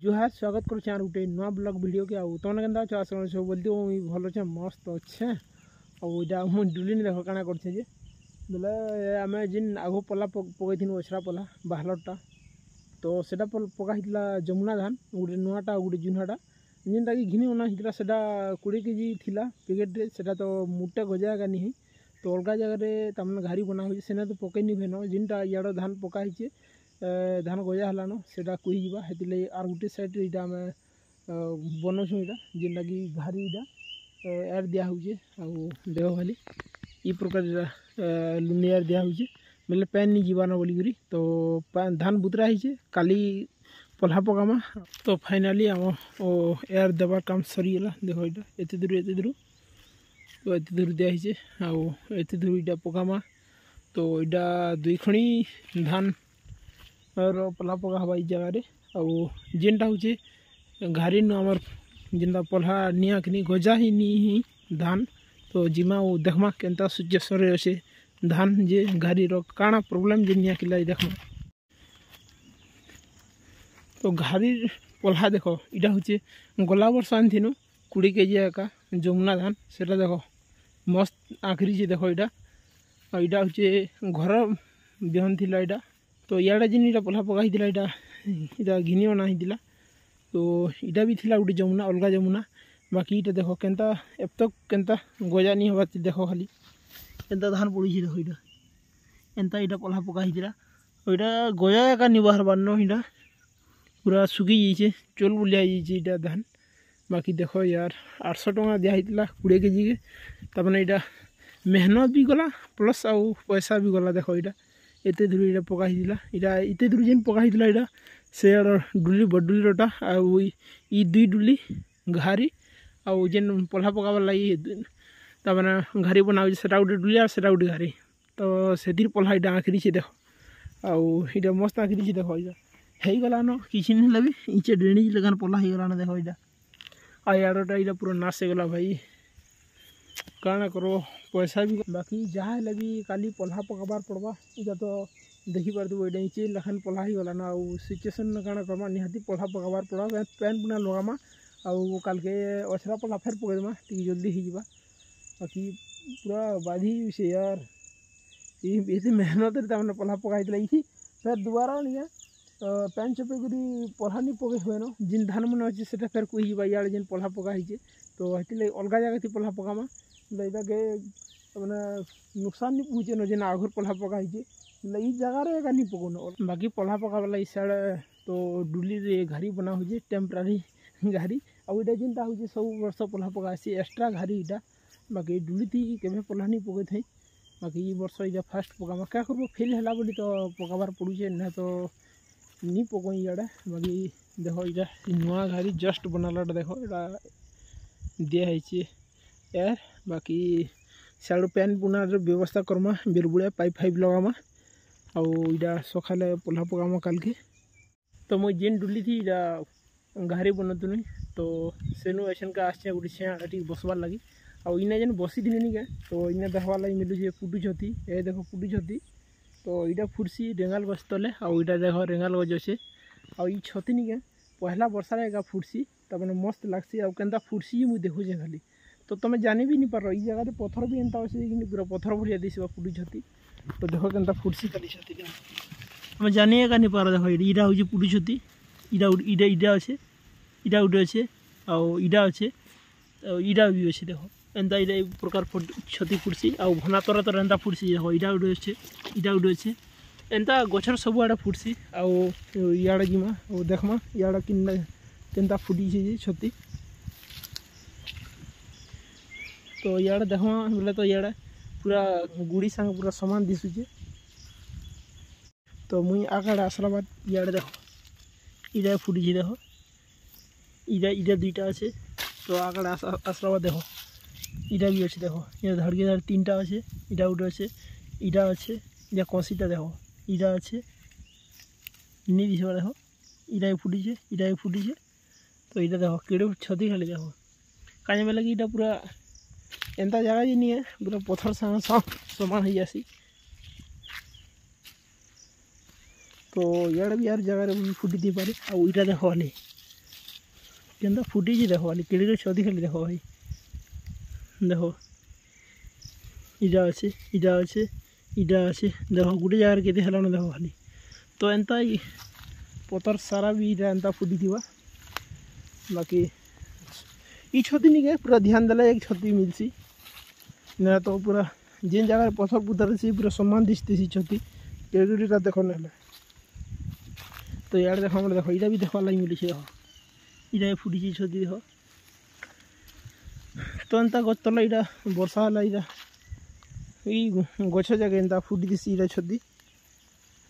ଜୁହାର, ସ୍ୱାଗତ କରୁଛେ ଆର୍ ଗୋଟେ ନୂଆ ବ୍ଲଗ୍ ଭିଡ଼ିଓ କେ। ଆଉ ତମେ କେନ୍ତା ଅଛ? ଆଶା ସବୁ ବୋଲତେ ମୁଇଁ ଭଲ ଅଛେ, ମସ୍ତ ଅଛେ। ଆଉ ଏଇଟା ମୁଁ ଡୁଲିନି, ଦେଖ କାଣା କରୁଛେ ଯେ ବୋଲେ ଆମେ ଯେନ୍ ଆଘ ପଲା ପକେଇଥିନୁ, ଅଛରା ପଲା ବାହାଲରଟା, ତ ସେଟା ପକା ହେଇଥିଲା ଯମୁନା ଧାନ ଗୋଟେ ନୂଆଟା ଆଉ ଗୋଟେ ଜୁହ୍ନାଟା, ଯେନ୍ଟାକି ଘିନି ଅନା ହେଇଥିଲା। ସେଟା 20 କେଜି ଥିଲା ପ୍ୟାକେଟ୍ରେ। ସେଟା ତ ମୁଟେ ଗଜା ଏକା ନି ହେଇ। ତ ଅଲଗା ଜାଗାରେ ତାମାନେ ଘାରି ବନା ହଉଛେ, ସେନେ ତ ପକେଇ ନି ହୁଏନ। ଯେନ୍ଟା ଇଆଡ଼ ଧାନ ପକା ହେଇଛେ, ଧାନ ଗଜା ହେଲାନ, ସେଟା କୁହିଯିବା। ହେଥିର୍ଲାଗି ଆର୍ ଗୁଟେ ସାଇଡ଼୍ରେ ଏଇଟା ଆମେ ବନଉଛୁଁ। ଏଇଟା ଯେନ୍ଟାକି ଘାରି, ଏଇଟା ଏୟାର ଦିଆ ହଉଛେ। ଆଉ ଦେଖ ଖାଲି ଇ ପ୍ରକାର ଲୁନିଆର ଦିଆ ହଉଛେ ବେଲେ ପାଏନ୍ ନି ଯିବାନ ବୋଲିକରି। ତ ଧାନ ବୁତରା ହେଇଛେ, କାଲି ପଲ୍ହା ପକାମା। ତ ଫାଇନାଲି ଆମ ଏୟାର ଦେବାର କାମ ସରିଗଲା। ଦେଖ, ଏଇଟା ଏତେ ଦୂର, ଏତେ ଦୂର, ତ ଏତେ ଦୂର ଦିଆ ହେଇଛେ ଆଉ ଏତେ ଦୂର ଏଇଟା ପକାମା। ତ ଏଇଟା ଦୁଇ ଖଣି ଧାନ ର ପଲ୍ହା ପକା ହେବା ଏଇ ଜାଗାରେ। ଆଉ ଯେନ୍ଟା ହଉଛେ ଘାରି ନୁ ଆମର ଯେନ୍ଟା ପଲ୍ହା ନିଆ କିନି ଗଜା ହିଁ ନି ହିଁ ଧାନ। ତ ଜିମା ଆଉ ଦେଖ୍ମା କେନ୍ତା ସିଚୁଏସନ୍ରେ ଅଛେ ଧାନ ଯେ, ଘାରିର କାଣା ପ୍ରୋବ୍ଲେମ୍ ଯେ ନିଆକିଲା ଦେଖ୍ମା। ତ ଘାରିର ପଲ୍ହା ଦେଖ, ଇଟା ହଉଛେ ଗଲା ବର୍ଷ ଆଣିଥିନୁ 20 କେଜି ଏକା ଯମୁନା ଧାନ। ସେଟା ଦେଖ, ମସ୍ତ ଆଖରିଛେ। ଦେଖ ଏଇଟା, ଆଉ ଏଇଟା ହଉଛେ ଘର ବିହନ ଥିଲା ଏଇଟା। ତ ଇଆଡ଼େ ଯେନ୍ ଇଟା ପଲ୍ହା ପକା ହେଇଥିଲା, ଏଇଟା ଘିନି ଅଣା ହେଇଥିଲା। ତ ଇଟା ବି ଥିଲା ଗୋଟେ ଯମୁନା, ଅଲଗା ଯମୁନା। ବାକି ଇଟା ଦେଖ କେନ୍ତା ଏତକ କେନ୍ତା ଗଜା ନି ହେବା। ଦେଖ ଖାଲି କେନ୍ତା ଧାନ ପଡ଼ିଛି। ଦେଖ, ଏଇଟା ଏନ୍ତା ଏଇଟା ପଲ୍ହା ପକା ହେଇଥିଲା। ଏଇଟା ଗଜା ଏକା ନି ବାହାରବାର୍ ନ, ଏଇଟା ପୁରା ଶୁଖି ଯାଇଛେ, ଚୋଲ ବୁଲିଆ ହେଇଯାଇଛେ ଏଇଟା ଧାନ। ବାକି ଦେଖ ୟାର, 800 ଟଙ୍କା ଦିଆ ହେଇଥିଲା 20 କେଜିକେ। ତାମାନେ ଏଇଟା ମେହନତ ବି ଗଲା, ପ୍ଲସ୍ ଆଉ ପଇସା ବି ଗଲା। ଦେଖ, ଏଇଟା ଏତେ ଦୂର ଏଇଟା ପକା ହେଇଥିଲା। ଏଇଟା ଏତେ ଦୂର ଯେନ୍ ପକା ହେଇଥିଲା, ଏଇଟା ସେଆଡ଼ର ଡୁଲି, ବଡ଼ ଡୁଲିରଟା, ଆଉ ଇ ଦୁଇ ଡୁଲି ଘାରି, ଆଉ ଯେନ୍ ପଲ୍ହା ପକାବାର ଲାଗି ତାମାନେ ଘାରି ବନା ହଉଛେ, ସେଟା ଗୋଟେ ଡୁଲି ଆଉ ସେଟା ଗୋଟେ ଘାରି। ତ ସେଥିର୍ ପଲ୍ହା ଏଇଟା ଆଁଖରିଛେ। ଦେଖ, ଆଉ ଏଇଟା ମସ୍ତ ଆଁଖରିଛେ। ଦେଖ, ଏଇଟା ହେଇଗଲାନ, କିଛି ନି ହେଲେ ବି ଇଞ୍ଚେ ଡେଣି ଲେଖାନ୍ ପଲ୍ହା ହେଇଗଲାନ। ଦେଖ ଏଇଟା, ଆଉ ଇଆଡ଼ଟା ଏଇଟା ପୁରା ନାଶ ହେଇଗଲା ଭାଇ। କାଣା କର, ପଇସା ବି। ବାକି ଯାହା ହେଲେ ବି କାଲି ପଲ୍ହା ପକାବାର ପଡ଼ବା। ଏଇଟା ତ ଦେଖିପାରୁଥିବ, ଏଇଟା ଇଞ୍ଚେ ଲେଖାନ୍ ପଲ୍ହା ହେଇଗଲାନ। ଆଉ ସିଚୁଏସନ୍ କାଣା କର୍ମା, ନିହାତି ପଲ୍ହା ପକାବାର ପଡ଼ବା। ପେନ୍ ପୁନା ଲଗାମା ଆଉ କାଲ୍କେ ଅଛରା ପଲ୍ହା ଫେର୍ ପକେଇଦେମା, ଟିକେ ଜଲ୍ଦି ହେଇଯିବା। ବାକି ପୁରା ବାଧି ସେ ୟାର, ଏତେ ମେହନତରେ ତାମାନେ ପଲ୍ହା ପକା ହେଇଥିଲା। ଏଇଠି ଫେର୍ ଦୁବାରା ନିକେ ପାଏନ୍ ଚପେଇ କରି ପଲ୍ହା ନି ପକେଇ ହୁଏନ। ଯେନ୍ ଧାନ ମାନେ ଅଛେ, ସେଟା ଫେର୍ କୁହିଯିବା ଇଆଡ଼େ ଯେନ୍ ପଲ୍ହା ପକା ହେଇଛେ। ତ ହେଥିର୍ଲାଗି ଅଲଗା ଜାଗାଥି ପଲ୍ହା ପକାମା। ଏଇଟାକେ ମାନେ ନୁକସାନ ନି ପହଞ୍ଚେନ ଯେନ୍ ଆଘର ପଲ୍ହା ପକା ହେଇଛେ, ବୋଲେ ଇ ଜାଗାରେ ଏକା ନି ପକଉନ। ବାକି ପଲ୍ହା ପକାବାର ଲାଗି ସିଆଡ଼େ ତ ଡୁଲିରେ ଘାରି ବନା ହଉଛେ, ଟେମ୍ପରାରୀ ଘାରି। ଆଉ ଏଇଟା ଯେନ୍ଟା ହଉଛେ ସବୁ ବର୍ଷ ପଲ୍ହା ପକା ହେସି, ଏକ୍ସଟ୍ରା ଘାରି ଏଇଟା। ବାକି ଡୁଲିଥି କେବେ ପଲ୍ହା ନି ପକେଇଥାଇ। ବାକି ଇ ବର୍ଷ ଏଇଟା ଫାଷ୍ଟ ପକାମା। କାଁ କରବ, ଫେଲ୍ ହେଲା ବୋଲି ତ ପକାବାର ପଡୁଛେ, ନା ତ ନି ପକଉଁ ଇଆଡ଼େ। ବାକି ଦେଖ, ଏଇଟା ନୂଆ ଘାରି ଜଷ୍ଟ ବନାଲାଟା। ଦେଖ, ଏଇଟା ଦିଆ ହେଇଛେ ଏୟାର। ବାକି ସିଆଡ଼ୁ ପ୍ୟାନ୍ ପୁନାର ବ୍ୟବସ୍ଥା କର୍ମା, ବେଲବୁଡ଼ିଆ ପାଇପ୍ ଫାଇପ୍ ଲଗାମା ଆଉ ଏଇଟା ସକାଳେ ପଲ୍ହା ପକାମା କାଲ୍କେ। ତ ମୁଇଁ ଯେନ୍ ଡୁଲିଥି ଏଇଟା ଘାରି ବନଉଥିନି, ତ ସେନୁ ଏଛେନ୍କା ଆସିଛେ ଗୋଟେ ଛେଁ ଟିକେ ବସବାର୍ ଲାଗି। ଆଉ ଇନେ ଯେନ୍ ବସିଥିଲି ନିକେ, ତ ଇନେ ଦେଖ୍ବାର୍ ଲାଗି ମିଲୁଛେ ପୁଟୁଛତି। ଏ ଦେଖ ପୁଟୁଛତି। ତ ଏଇଟା ଫୁଟ୍ସି ରେଙ୍ଗାଲ ଗଛ ତଲେ। ଆଉ ଏଇଟା ଦେଖ, ରେଙ୍ଗାଲ ଗଛ ଅଛେ। ଆଉ ଇ ଛତି ନିକେ ପହଲା ବର୍ଷାରେ ଏକା ଫୁଟ୍ସି, ତାମାନେ ମସ୍ତ ଲାଗ୍ସି। ଆଉ କେନ୍ତା ଫୁଟ୍ସି ମୁଇଁ ଦେଖୁଛେ ଖାଲି, ତ ତମେ ଜାନି ବି ନି ପାର। ଏଇ ଜାଗାରେ ପଥର ବି ଏନ୍ତା ଅଛେ କିନ୍ତୁ ପୁରା ପଥର ଭଳିଆ ଦିଶବା ପୁଟୁ ଛତି। ତ ଦେଖ କେନ୍ତା ଫୁଟ୍ସି ଖାଲି ଛତି, ତମେ ଜାନି ଏକା ନି ପାର। ଦେଖ, ଏଇଟା ହଉଛି ପୁଟୁ ଛତି। ଇଟା ଇଟା ଇଟା ଅଛେ, ଇଟା ଗୋଟେ ଅଛେ, ଆଉ ଇଟା ଅଛେ, ଆଉ ଇଟା ବି ଅଛେ। ଦେଖ, ଏନ୍ତା ଏଇଟା ଏଇ ପ୍ରକାର ଛତି ଫୁଟ୍ସି। ଆଉ ଘନା ତର ତର ଏନ୍ତା ଫୁଟ୍ସି। ଦେଖ, ଇଟା ଗୋଟେ ଅଛେ, ଇଟା ଗୋଟେ ଅଛେ, ଏନ୍ତା ଗଛର ସବୁଆଡ଼େ ଫୁଟ୍ସି। ଆଉ ଇଆଡ଼େ ଯିମା ଆଉ ଦେଖ୍ମା ଇଆଡ଼େ କେନ୍ତା ଫୁଟିছে ଯେ ଛତି। ତ ଇଆଡ଼େ ଦେଖ୍ମା ବୋଲେ ତ ଇଆଡ଼େ ପୁରା ଗୁଡ଼ି ସାଙ୍ଗେ ପୁରା ସମାନ ଦିଶୁଛେ। ତ ମୁଇଁ ଆଗାଡ଼େ ଆସିଲା ବାଦ ଇଆଡ଼େ ଦେଖ, ଇଟା ଫୁଟିছে। ଦେଖ, ଇଟା ଇଟା ଦୁଇଟା ଅଛି। ତ ଆଗାଡ଼େ ଆସିଲା ବାଦ ଦେଖ, ଇଟା ବି ଅଛି। ଦେଖ, ଇଟା ଧଡ଼କେ ଧଡ଼ ତିନିଟା ଅଛି। ଇଟା ଗୋଟେ ଅଛି, ଇଟା ଅଛି, ଇଟା କଷିଟା ଦେଖ, ଇଟା ଅଛି, ନି ଦିଶବା। ଦେଖ, ଇଟା ବି ଫୁଟିছে, ଇଟା ବି ଫୁଟିছে। ତ ଏଇଟା ଦେଖ କେଡ଼େ ଛତି ଖାଲି ଦେଖ। କାଏଁ ବେଲେ କି ଇଟା ପୁରା ଏନ୍ତା ଜାଗା ଯେ ନିଏ, ପୁରା ପଥର ସାଙ୍ଗେ ସମାନ ହେଇଯାସି। ତ ଇଆଡ଼େ ବି ଆର୍ ଜାଗାରେ ବି ଫୁଟି ଦେଇପାରେ। ଆଉ ଇଟା ଦେଖ ଖାଲି କେନ୍ତା ଫୁଟିଛି ଦେଖ ଖାଲି କେଡ଼େ କେଡ଼େ ଛତି ଖାଲି ଦେଖ ଭାଇ। ଦେଖ ଇଟା ଅଛେ, ଇଟା ଅଛେ, ଇଟା ଅଛେ, ଦେଖ ଗୋଟେ ଜାଗାରେ କେତେ ହେଲାନ ଦେଖ ଖାଲି। ତ ଏନ୍ତା ପତର ସାରା ବି ଇଟା ଏନ୍ତା ଫୁଟିଥିବା। ବାକି ଇ ଛତି ନିକେ ପୁରା ଧ୍ୟାନ ଦେଲେ ଏକ ଛତି ମିଲ୍ସି, ନା ତ ପୁରା ଯେନ୍ ଜାଗାରେ ପଥର ପୁଥର ଅଛି ପୁରା ସମାନ ଦିଶୁଥିସି ଛତି। କେଡ଼େ ଦେଖ ନହେଲେ ତ ଇଆଡ଼େ ଦେଖ ଆମର ଦେଖ ଇଟା ବି ଦେଖବାର୍ ଲାଗି ମିଲୁଛି। ଦେଖ ଇଟା ବି ଫୁଟିଛି ଛତି ଦେଖ। ତ ଏନ୍ତା ଗଛ ତଲେ ଇଟା ବର୍ଷା ହେଲା ଇଟା ଏଇ ଗଛ ଯାକେ ଏନ୍ତା ଫୁଟିଥିସି ଇଟା ଛତି।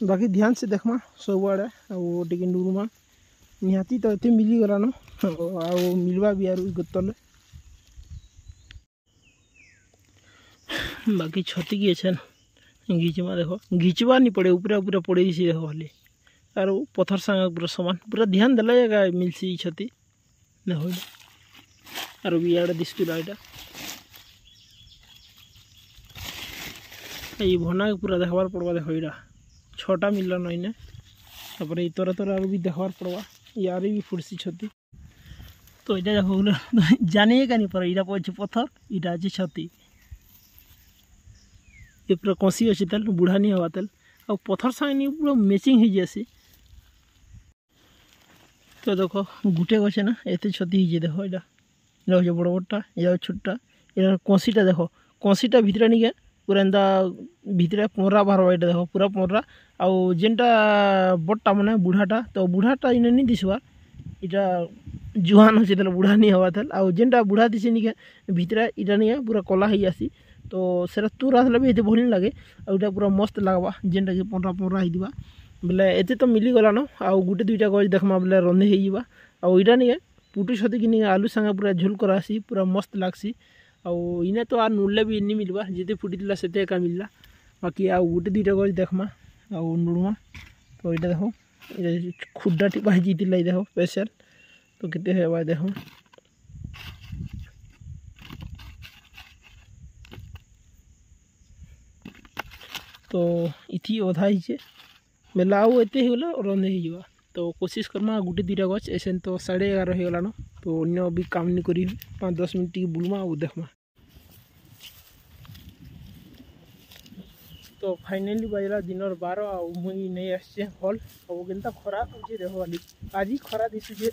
ବାକି ଧ୍ୟାନ ସେ ଦେଖ୍ମା ସବୁଆଡ଼େ ଆଉ ଟିକେ ନୁରୁମା ନିହାତି ତ ଏତେ ମିଲିଗଲାନ ଆଉ ମିଲବା ବି ଆରୁ ଗଛ ତଲେ। ବାକି ଛତି କି ଅଛନ୍ ଘିଚମା ଦେଖ, ଘିଚବା ନି ପଡ଼େ ଉପରେ ଉପରେ ପଡ଼େଇଛି ଦେଖ ଖାଲି। ଆରୁ ପଥର ସାଙ୍ଗେ ପୁରା ସମାନ ପୁରା ଧ୍ୟାନ ଦେଲେ ଏକା ମିଲ୍ସି ଇ ଛତି ଦେଖ। ଆରୁ ବି ଇଆଡ଼େ ଦିଶୁଥିଲା ଏଇଟା ଏଇ ଭନାକେ ପୁରା ଦେଖବାର ପଡ଼ବା। ଦେଖ ଏଇଟା 6ଟା ମିଲଲା ନଇନେ, ତାପରେ ଏଇ ତରେ ତରେ ଆରୁ ବି ଦେଖବାର ପଡ଼ବା, ଇଆରେ ବି ଫୁଟସି ଛତି। ତ ଏଇଟା ଦେଖ ଜାନି କାନି ପର ଏଇଟା ପଡ଼ିଛି ପଥର, ଏଇଟା ଅଛି ଛତି। ଏ ପୁରା କଷି ଅଛି ତେଲ ବୁଢ଼ା ନି ହେବା ତେଲ, ଆଉ ପଥର ସାଙ୍ଗେ ନି ପୁରା ମ୍ୟାଚିଂ ହେଇଯାଏସି। ତ ଦେଖ ଗୁଟେ ଗଛେ ନା ଏତେ ଛତି ହେଇଛି ଦେଖ। ଏଇଟା ଏଇଟା ହচ্ছে ବଡ଼ ବଡ଼ଟା, ଏଇଟା ଛୋଟଟା। ଏଇଟା କଷିଟା ଦେଖ, କଷିଟା ଭିତରେ ନିକେ ପୁରା ଏନ୍ତା ଭିତରେ ପଁରା ବାହାରବା। ଏଇଟା ଦେଖ ପୁରା ପଁରା। ଆଉ ଯେନ୍ଟା ବଡ଼ଟା ମାନେ ବୁଢ଼ାଟା, ତ ବୁଢ଼ାଟା ଇନେ ନି ଦିଶବାର୍, ଇଟା ଜୁଆନ୍ ଅଛେ ତାହେଲେ ବୁଢ଼ା ନି ହେବା ତେଲ୍। ଆଉ ଯେନ୍ଟା ବୁଢ଼ା ଦିଶେ ନିକେ ଭିତରେ ଇଟା ନିକେ ପୁରା କଲା ହେଇଯାସି, ତ ସେଟା ତୁର ଆସିଲେ ବି ଏତେ ଭଲ ନି ଲାଗେ। ଆଉ ଏଇଟା ପୁରା ମସ୍ତ ଲାଗ୍ବା ଯେନ୍ଟାକି ପଁରା ପଁରା ହେଇଥିବା ବେଲେ। ଏତେ ତ ମିଲିଗଲାନ, ଆଉ ଗୁଟେ ଦୁଇଟା ଗଛ ଦେଖ୍ମା ବେଲେ ରନ୍ଧି ହେଇଯିବା। ଆଉ ଏଇଟା ନିକେ ପୁଟୁ ଛତିକି ନିକେ ଆଲୁ ସାଙ୍ଗେ ପୁରା ଝୋଲ କରାସି, ପୁରା ମସ୍ତ ଲାଗ୍ସି। ଆଉ ଇନେ ତ ଆର୍ ନୁଡ଼ଲେ ବି ନି ମିଲବା, ଯେତେ ଫୁଟିଥିଲା ସେତେ ଏକା ମିଲଲା। ବାକି ଆଉ ଗୁଟେ ଦୁଇଟା ଗଛ ଦେଖ୍ମା ଆଉ ନୁଡ଼ମା। ତ ଏଇଟା ଦେଖ ଏଇଟା ଖୁଡ୍ଡା ଟିପା ହେଇଯାଇଥିଲା, ଏଇ ଦେଖ ସ୍ପେଶାଲ। ତ କେତେ ହେବା ଦେଖ। ତ ଇଥି ଅଧା ହେଇଛେ ବେଲେ ଆଉ ଏତେ ହେଇଗଲେ ରନ୍ଧି ହେଇଯିବା। ତ କୋସିସ୍ କର୍ମା ଗୁଟେ ଦୁଇଟା ଗଛ। ଏସେନ୍ ତ 11:30 ହେଇଗଲାନ, ତ ଅନ୍ୟ ବି କାମ ନି କରି 5-10 ମିନିଟ୍ ଟିକେ ବୁଲମା ଆଉ ଦେଖ୍ମା। ତ ଫାଇନାଲି ବାଜିଲା ଦିନର 12 ଆଉ ମୁଇଁ ନେଇ ଆସିଛେ ହଲ୍। ଆଉ କେନ୍ତା ଖରା ହଉଛେ ଦେଖ ଖାଲି, ଆଜି ଖରା ଦିଶୁଛେ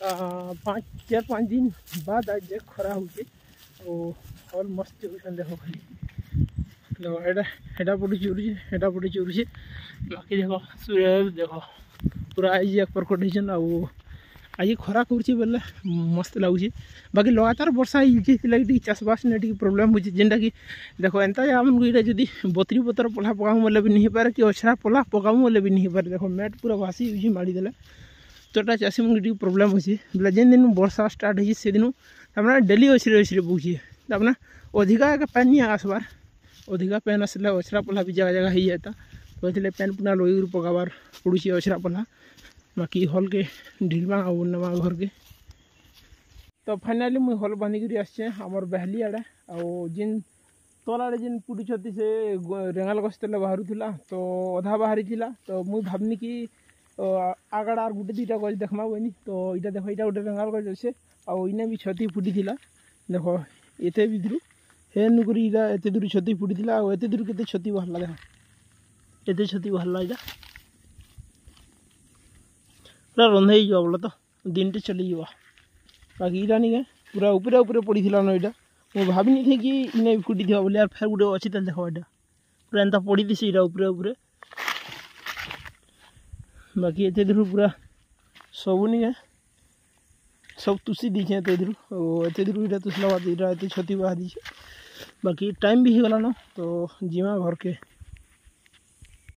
4-5 ଦିନ ବାଦ ଆଜ ଯେ ଖରା ହଉଛେ। ଆଉ ହଲ୍ ମସ୍ତ ଚରୁଛନ୍ ଦେଖ ଖାଲି। ଦେଖ ଏଇଟା ହେଟା ପଟୁ ଚୁରୁଛେ, ହେଟା ପଟୁ ଚୁରୁଛେ। ବାକି ଦେଖ ସୂର୍ଯ୍ୟ ଦେଖ ପୁରା ଆଜି ଏକ ପ୍ରକଟ ହେଇଛନ୍। ଆଉ ଆଜି ଖରା କରୁଛେ ବେଲେ ମସ୍ତ ଲାଗୁଛେ। ବାକି ଲଗାତାର ବର୍ଷା ହେଇଯାଉଛି, ସେଥିଲାଗି ଟିକେ ଚାଷବାସ ନେ ଟିକେ ପ୍ରୋବ୍ଲେମ୍ ହଉଛି। ଯେନ୍ଟାକି ଦେଖ ଏନ୍ତା ଜାଗାମାନଙ୍କୁ ଏଇଟା ଯଦି ବତରି ପତର ପଲ୍ହା ପକାମୁ ବୋଲେ ବି ନି ହେଇପାରେ, କି ଅଛରା ପଲ୍ହା ପକାମୁ ବୋଲେ ବି ନି ହେଇପାରେ। ଦେଖ ମ୍ୟାଟ୍ ପୁରା ଭାସି ଯାଉଛି ମାଡ଼ିଦେଲେ, ତ ଏଟା ଚାଷୀମାନଙ୍କୁ ଟିକେ ପ୍ରୋବ୍ଲେମ୍ ହଉଛି। ବେଲେ ଯେନ୍ ଦିନୁ ବର୍ଷା ଷ୍ଟାର୍ଟ ହେଇଛି ସେଦିନୁ ତାମାନେ ଡେଲି ଅଛରେ ଅଛରେ ପକଉଛି, ତାମାନେ ଅଧିକା ଏକା ପାନି ନି ଆସବାର୍। ଅଧିକା ପାନ୍ ଆସିଲେ ଅଛରା ପଲ୍ହା ବି ଜାଗା ଜାଗା ହେଇଯାଏତା, ତ ଏଥିଲାଗି ପାନ୍ ପୁନା ଲଗେଇକରି ପକାବାର୍ ପଡ଼ୁଛି ଅଛରା ପଲ୍ହା। ବାକି ହଲ୍କେ ଢିଲମା ଆଉ ନେମା ଘରକେ। ତ ଫାଇନାଲି ମୁଇଁ ହଲ୍ ବାନ୍ଧିକରି ଆସିଛେ ଆମର୍ ବେହଲି ଆଡ଼େ। ଆଉ ଯେନ୍ ତଲ୍ ଆଡ଼େ ଯେନ୍ ପୁଟୁଛତି ସେ ରେଙ୍ଗାଲ ଗଛ ତଲେ ବାହାରୁଥିଲା, ତ ଅଧା ବାହାରିଥିଲା। ତ ମୁଇଁ ଭାବିନି କି ଆଗାଡ଼ ଆର୍ ଗୁଟେ ଦୁଇଟା ଗଛ ଦେଖ୍ମା ବୋଇନି। ତ ଏଇଟା ଦେଖ ଏଇଟା ଗୋଟେ ରେଙ୍ଗାଲ ଗଛ ଅଛେ, ଆଉ ଇନେ ବି ଛତି ଫୁଟିଥିଲା ଦେଖ। ଏତେ ଭିତରୁ ହେନୁ କରି ଏଇଟା ଏତେ ଦୂର ଛତି ଫୁଟିଥିଲା, ଆଉ ଏତେ ଦୂର କେତେ ଛତି ବାହାରିଲା ଦେଖ, ଏତେ ଛତି ବାହାରିଲା। ଏଇଟା ପୁରା ରନ୍ଧା ହେଇଯିବା ବୋଲେ ତ ଦିନଟେ ଚଲିଯିବା। ବାକି ଏଇଟା ନିକେ ପୁରା ଉପରେ ଉପରେ ପଡ଼ିଥିଲା ନ, ଏଇଟା ମୁଁ ଭାବିନି ଥାଇ କି ଇନେ ବି ଫୁଟିଥିବା ବୋଲି। ଆର୍ ଫେର୍ ଗୋଟେ ଅଛି ତାହେଲେ ଦେଖ, ଏଇଟା ପୁରା ଏନ୍ତା ପଡ଼ିଥିସି ଏଇଟା ଉପରେ ଉପରେ। ବାକି ଏତେ ଦୂର ପୁରା ସବୁ ନିକେ ସବୁ ତୁସି ଦେଇଛେ ଏତେ ଦୂର, ଆଉ ଏତେ ଦୂର ଏଇଟା ତୁସଲା ବାଦ ଏଇଟା ଏତେ ଛତି ବାହାରିଛେ। ବାକି ଟାଇମ୍ ବି ହେଇଗଲାନ, ତ ଯିମା ଘରକେ।